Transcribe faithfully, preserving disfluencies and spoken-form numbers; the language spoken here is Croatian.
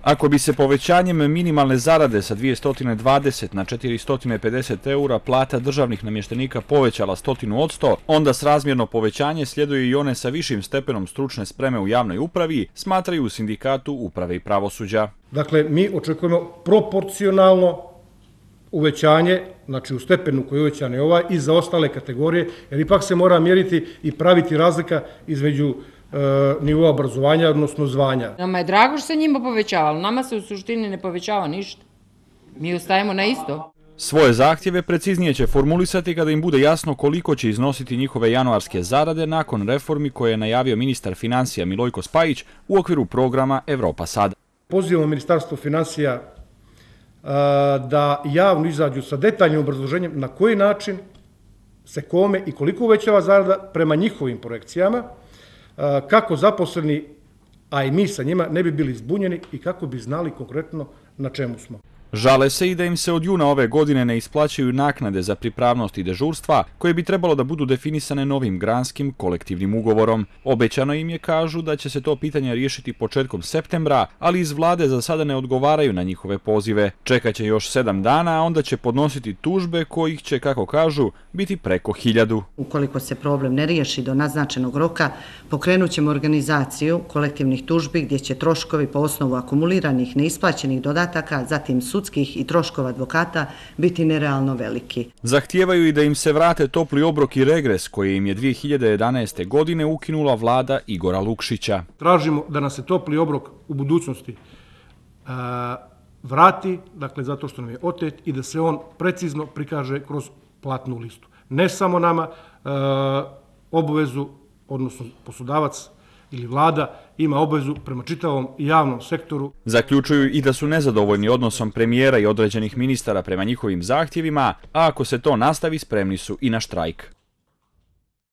Ako bi se povećanjem minimalne zarade sa dvjesto dvadeset na četiristo pedeset eura plata državnih namještenika povećala stotinu od sto, onda srazmjerno povećanje sljeduje i one sa višim stepenom stručne spreme u javnoj upravi, smatraju u Sindikatu uprave i pravosuđa. Dakle, mi očekujemo proporcionalno uvećanje, znači u stepenu koji je uvećan je ovaj, i za ostale kategorije, jer ipak se mora mjeriti i praviti razlika između nivoa obrazovanja, odnosno zvanja. Nama je drago što se njima povećavalo, nama se u suštini ne povećava ništa. Mi ostajemo na isto. Svoje zahtjeve preciznije će formulisati kada im bude jasno koliko će iznositi njihove januarske zarade nakon reformi koje je najavio ministar financija Milojko Spajić u okviru programa Evropa sad. Pozivamo Ministarstvo financija da javno izađu sa detaljnim obrazloženjem na koji način se kome i koliko uvećava zarada prema njihovim projekcijama, kako zaposleni, a i mi sa njima, ne bi bili zbunjeni i kako bi znali konkretno na čemu smo. Žale se i da im se od juna ove godine ne isplaćaju naknade za pripravnost i dežurstva, koje bi trebalo da budu definisane novim granskim kolektivnim ugovorom. Obećano im je, kažu, da će se to pitanje riješiti početkom septembra, ali iz vlade za sada ne odgovaraju na njihove pozive. Čekaće još sedam dana, a onda će podnositi tužbe kojih će, kako kažu, biti preko hiljadu. Ukoliko se problem ne riješi do naznačenog roka, pokrenut ćemo organizaciju kolektivnih tužbi gdje će troškovi po osnovu akumuliranih neisplaćenih dodataka, zatim sudskih i troškova advokata biti nerealno veliki. Zahtijevaju i da im se vrate topli obrok i regres koji im je dvije hiljade jedanaeste. godine ukinula vlada Igora Lukšića. Tražimo da nas se topli obrok u budućnosti vrati, dakle zato što nam je otet, i da se on precizno prikaže kroz platnu listu. Ne samo nama, obavezu, odnosno poslodavac ili vlada ima obavezu prema čitavom javnom sektoru. Zaključuju i da su nezadovoljni odnosom premijera i određenih ministara prema njihovim zahtjevima, a ako se to nastavi, spremni su i na štrajk.